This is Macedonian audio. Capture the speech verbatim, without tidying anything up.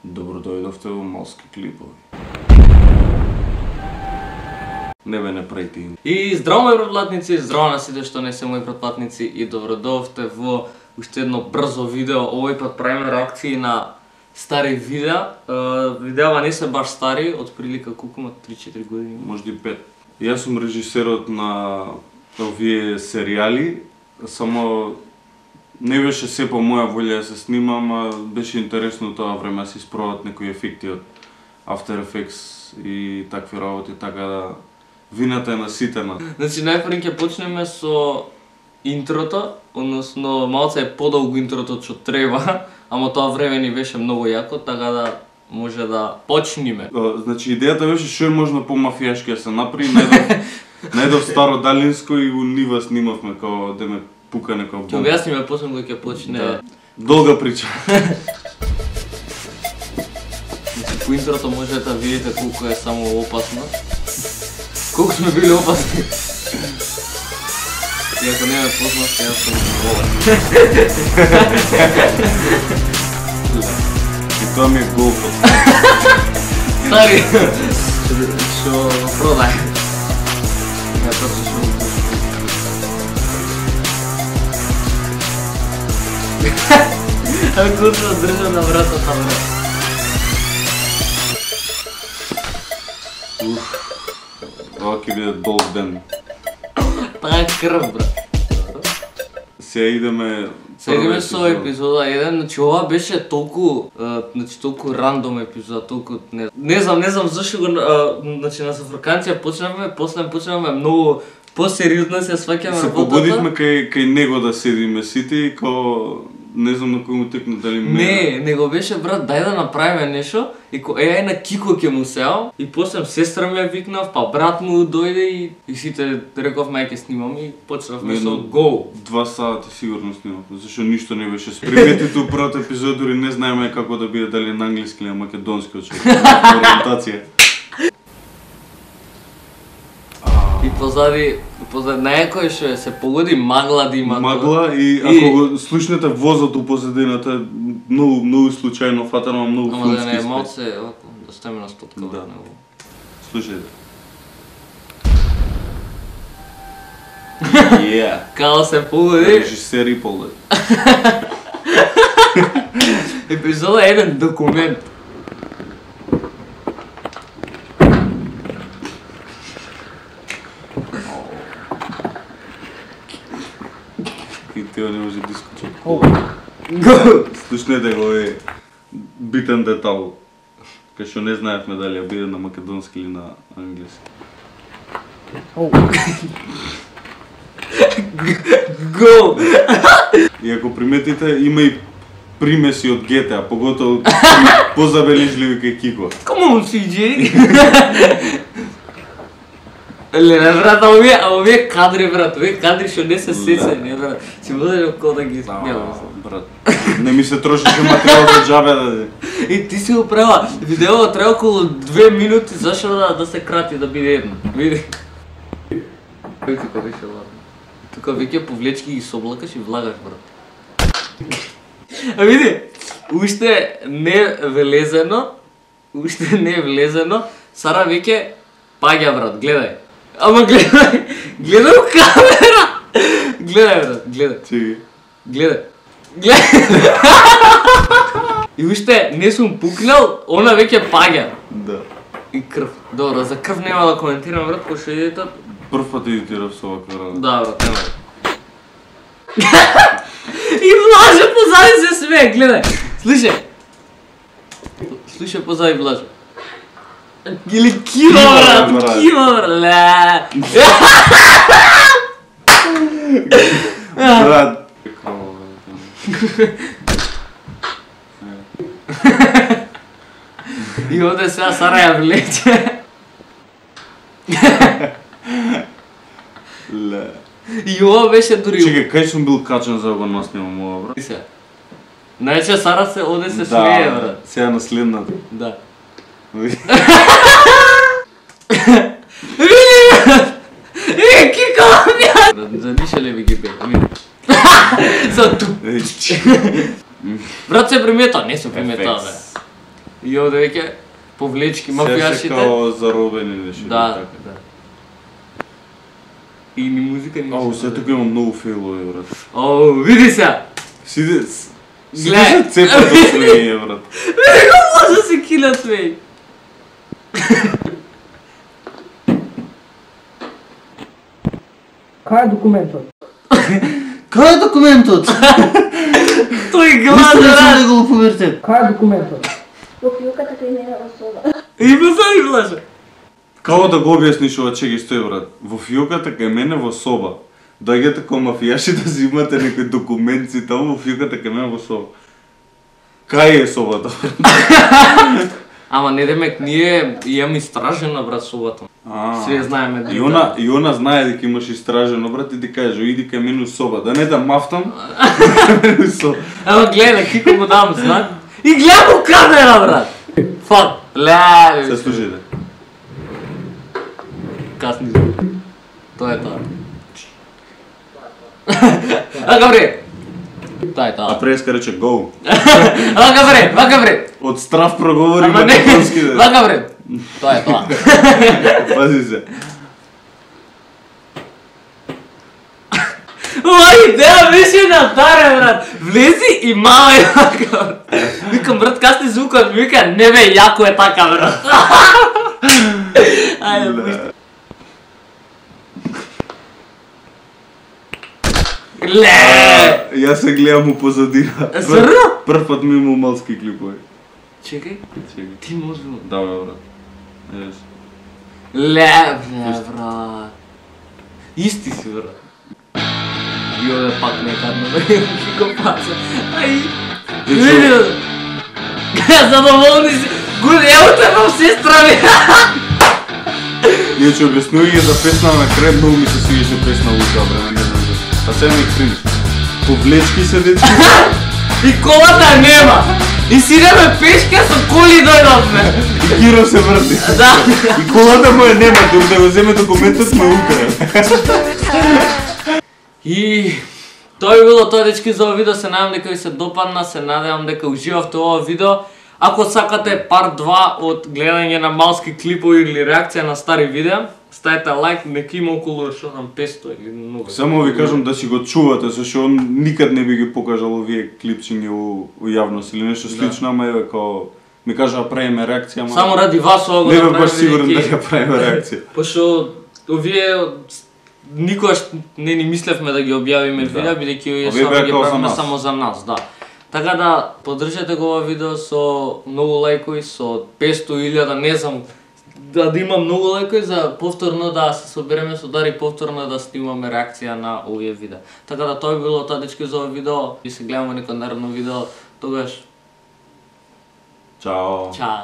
Добро дојдовте во Малски клипови. Не бе, не прети. И здраво мои пратплатници, здраво на сите што не се мои пратплатници и добро дојдовте во уште едно брзо видео. Овој пат правиме реакции на стари видеа. Видеава не се баш стари, од прилика колку има три-четири години. Може и пет. Јас сум режисерот на овие серијали, само не беше се по моја волја да се снимам, а беше интересно тоа време да се испробат некои ефекти од After Effects и такви работи, така да вината е наситена. Значи најпрво ќе почнеме со интрото, односно малце е подолго интрото што треба, ама тоа време ни беше многу јако, така да може да почнеме. Значи идејата беше што е можно по-мафијашки да се направи, најдов, најдов старо далинско и у нива снимавме као да ме пука некоја бомба. Ќе објасниме после кога ќе почне. Да. Долга прича. Значи по интрото можете да видите колку е само опасно. Колку сме били опасни. И ако не ме познавте, јас сум болен. И тоа ми е голфот. Стари, што го продај. Ја просто што го пушам. Ако се држа на вратата, бре. Уф, ова ќе биде долг ден. Таа е крв, брат. Сега идеме... Сега идеме со епизода еден, значи ова беше толку, значи толку рандом епизода, толку не не знам, не знам зашто го, значи на зафрканција почнавме, после почнавме многу посериозно се сваќаме работата. Се побудивме кај кај него да седиме сите и као не знам на кој му текна дали мене. Не, него беше брат, дај да направиме нешто и ко е на Кико ќе му сеал и после сестра ми ја викнав, па брат му дојде и и сите рековме ај ќе снимам и почнавме со го. Два сати сигурно снимавме, зашто ништо не беше спреметите у првиот епизод, дури не знаеме како да биде дали на англиски или на македонски очекуваме ориентација. И позади, позади некој што се погоди магла да има. Магла и ако го слушнете возот у позадината, многу многу случајно фатано, многу филмски. Ама да не е малце, да стеме на стотка. Да. Слушајте. Yeah. Као се погоди. Режисер и полет. Епизода е еден документ. И тео не може да искочи. Го! Слушнете го е битен детал. Кај што не знаевме дали ја биде на македонски или на англиски. Го! И ако приметите, има и примеси од Г Т А, поготово позабележливи кај Кико. Come on, Си Џеј! Леле, брат, а овие, а овие кадри, брат, овие кадри што не се сеќање, брат. Си може како да ги снимам. Брат, не ми се трошеше материјал за џабе да. И ти си го права. Видеото треба околу две минути, зашто да да се крати да биде едно. Види. Кој ти беше ладно. Тука веќе повлечки ги соблакаш и влагаш, брат. А види, уште не влезено, уште не влезено, Сара веќе паѓа, брат, гледај. Ама гледај, гледај у камера! Гледај, брат, гледај. Чеки. Гледај. Гледај. И уште не сум пукнал, она веќе паѓа. Да. И крв. Добро, за крв нема да коментирам, брат, кој што идете. Прв пат едитирав со оваква работа. Да, брат, нема. И Влаже позади се смее, гледај. Слушај. Слушај позади Влаже. Или Кима, брат, Кима, брат. Брат. И оде сега Сара ја влече. Ле. И ова беше дури... Чекај, кај сум бил качен за да го наснимам ова, брат? Сега. Најче Сара се оде се смее, брат. Сега на следната. Да. Види, Е, Кико, бја! За ниша ли ви ги бега, види. За ту. Брат се примета, не се примета, бе. И овде веќе повлечки, мафијашите. Се као заробени нешто. Да, да. И ни музика ни. Ау, се тука има многу фейлови, брат. Оу, види се! Сиде... Гледај. Сиде се цепат од свење, брат. Види го може да се килат свеј. Кај е документот? Кај е документот? Тој глада Ништо не рад. да го поверите. Кај е документот? Во фијуката кај мене во соба. Има са ни влаже. Како да го објасниш ова че ги стои, брат? Во фијуката кај мене во соба. Доаѓате као мафијаши да си имате некои документи таму во фијуката кај мене во соба. Кај е собата? Ама не демек, ние имаме истражена, брат, собата. А, Све знаеме И она, и она знае дека имаш истражено, брат, и ти каже, иди кај мене у соба, да не да мафтам, у соба. Ама гледай, кико му дам знак. И гледам у камера, брат. Фак. Ле, Се слушайте. Касни звук. Тоа е тоа. Ака бре. Тоа е А тоа. преска рече go. Ака бре, ака бре. Од страв проговори Ама не, македонски. ака бре. Тоа е тоа. Пази се. Ова идеја беше на таре, брат. Влези и мама е така. Викам, брат, касни звукот, ми вика, не бе, јако е така, брат. Ајде, пушти. Ле! Јас се гледам у позадина. Зрно? Прв пат ми имам малски клипови. Чекај, Чекай. ти може да... Да, бе, брат. Ес. Ле, бе, брат. Исти си, брат. И овде пак некадно, бе, кико паца. Ај, види, задоволни си. Гуди, ево те вам сестра ми. Иначе објаснување за песна на крај, многу ми се свиеше песна Лука, бре, не знам зашто. А сега ми криниш. Повлечки се дечки. И колата нема. И сидеме пешка со коли дојдовме. И Киро се врти. Да. И колата му е нема, дур да го земе документот ме укра. И тоа би било тоа, дечки, за ова видео. Се надевам дека ви се допадна, се надевам дека уживавте ова видео. Ако сакате парт два од гледање на малски клипови или реакција на стари видеа, ставете лайк, нека има околу што знам песто или многу. Само ви кажам да си го чувате, зашто он никад не би ги покажал овие клипчиња у, у јавност или нешто слично, ама еве као ми кажа правиме реакција, ама Само ради вас ова го не бе направиме. баш сигурен бидејќи- дека правиме реакција. Пошто овие никогаш не ни мислевме да ги објавиме Да. видеа, бидејќи овие Овие само беа ги као за правиме нас. само за нас, да. Така да поддржете го ова видео со многу лајкови, со песто илјада, не знам, да, да има многу лајкови за повторно да се собереме со Дари, повторно да снимаме реакција на овие видеа. Така да тоа би било тоа, дечки, за ова видео и се гледаме некој наредно видео, тогаш Чао. чао.